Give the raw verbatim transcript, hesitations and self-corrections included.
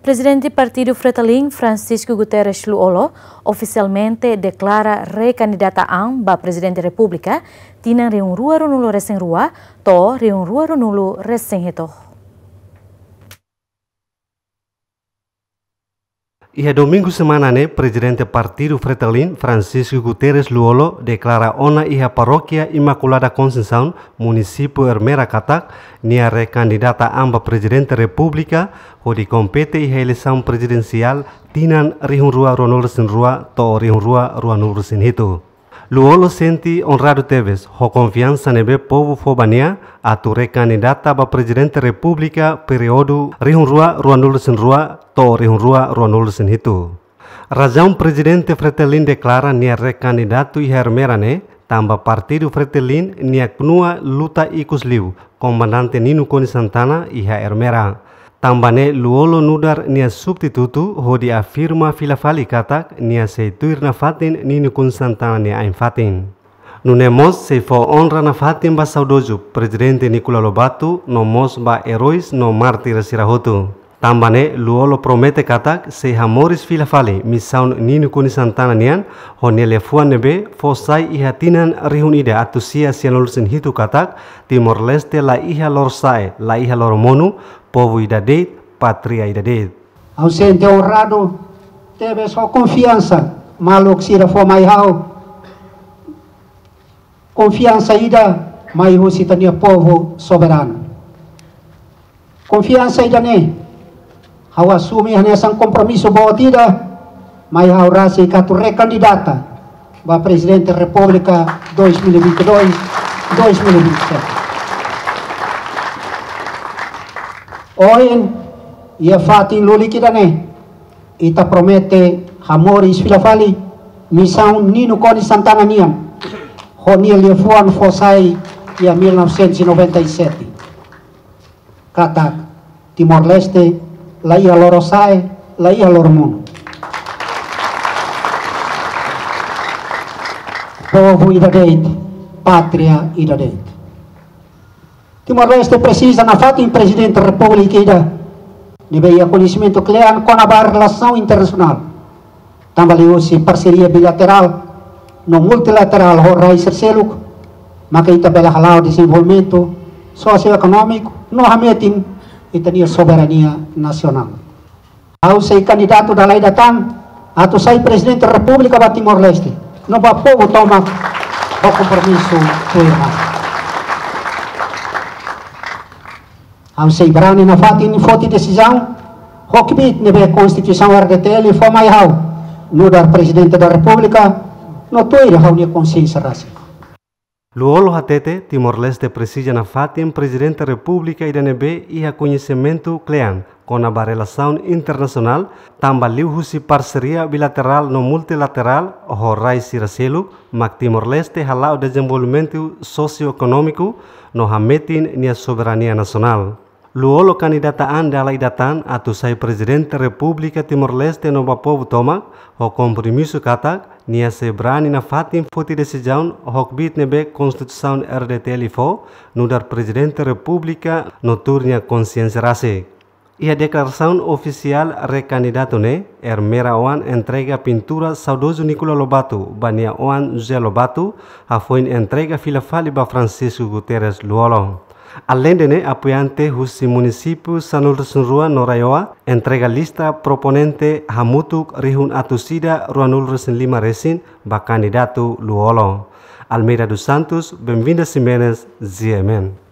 Prezidente Partidu Fretilin, Francisco Guterres Lú-Olo, ofisialmente deklara rekandidata an ba Prezidente Repúblika tinan rihun rua ruanulu resin rua to'o rihun rua ruanulu resin hitu. Iha Domingu semana ne'e, Prezidente Partidu Fretilin, Francisco Guterres Lú-Olo, deklara ona iha Parókia Imakulada Konseisaun, Munisípiu Ermera katak, nia rekandidata an ba Prezidente Repúblika, hodi kompete iha eleisaun prezidensiál tinan rihun rua ruanulu resin rua to'o rihun rua ruanulu resin hitu. Lú-Olo sente onradu tebes ho konfiansa ne'ebé povu fó ba nia atu rekandidata ba Prezidente Repúblika períodu rihun rua ruanulu resin rua to'o rihun rua ruanulu resin hitu. Razaun Prezidente Fretilin deklara nia rekandidatu iha Ermera ne'e, tanba Partidu Fretilin nia knua luta ikus liu Komandante Nino Konis Santana iha Ermera. Tanba ne'e Lú-Olo nu'udar nia substitutu hodi afirma fila fali katak nia sei tuir nafatin Nino Konis Santana nia ain-fatin. Nune'e mós sei fó onra nafatin ba saudozu Prezidente Nicolau Lobato no mós ba eróis no mártir sira hotu. Tanba ne'e Lú-Olo promete katak sei hamoris fila fali misaun Nino Konis Santana nian, ho nia liafuan ne'ebé fó sai iha tinan rihun ida atus sia sianulu resin hitu katak, Timor-Leste la iha lorosa'e, la iha loromonu, povu ida de'it, pátria ida de'it. Ha'u sente onradu tebes ho konfiansa maluk sira fó mai ha'u. Konfiansa ida mai husi ita-nia povu soberanu. Konfiansa ida-ne'e ha'u asume hanesan kompromisu boot ida mai ha'u rasik atu rekandidata ba Prezidente Repúblika dois mil e vinte e dois, dois mil e vinte e sete. Ohin, iha fatin lulik ida-ne'e, ita promete hamoris fila fali misaun Nino Konis Santana nian, ho nia liafuan fó sai iha mil novecentos e noventa e sete. Katak Timor-Leste la iha lorosa'e, la iha loromonu. Povu ida de'it, pátria ida de'it. Timor-Leste presiza nafatin Prezidente Repúblika ida ne'ebé iha koñesimentu kle'an kona-ba relasaun internasionál. Tanba liuhusi parseria bilaterál no multilaterál ho rai sira seluk, maka ita bele hala'o dezenvolvimentu sosioekonómiku no hametin ita-nia soberania nasionál. Ha'u sei kandidatu dala ida tan atu sai Prezidente Repúblika ba Timor-Leste, no ba povu tomak, ba kompromisu tuir ha'u. Ha'u sei brani nafatin foti desizaun ho kbiit ne'ebé Konstituisaun R D T L fó mai ha'u nu'udar Prezidente da Repúblika, no tuir ha'u-nia konsiénsia rasik. Lú-Olo hatete, Timor-Leste presiza nafatin Prezidente Repúblika ida ne'ebé iha koñesimentu kle'an kona-ba relasaun internasionál, tanba liuhusi parseria bilaterál no multilaterál ho rai sira seluk, mak Timor-Leste hala'o dezenvolvimentu sosioekonómiku no hametin nia soberania nasionál. Lú-Olo kandidata an dala ida tan atu sai Prezidente Repúblika Timor-Leste no ba povu tomak, ho kompromisu katak nia sei brani nafatin foti desizaun ho kbiit ne'ebé Konstituisaun R D T L fó nu'udar Prezidente Repúblika no tuir nia konsiénsia rasik. Iha deklarasaun ofisiál rekandidatu ne'e, Ermera oan entrega pintura saudozu Nicolau Lobato ba nia oan José Lobato, hafoin entrega fila fali ba Francisco Guterres Lú-Olo. Aleinde ne'e, apoiante husi munisípiu sanulu-resin-rua no RAEOA entrega lista proponente hamutuk rihun atus ida ruanulu-resin-lima resin ba kandidatu Lú-Olo. Almeida dos Santos, Benvinda Ximenes, G M N.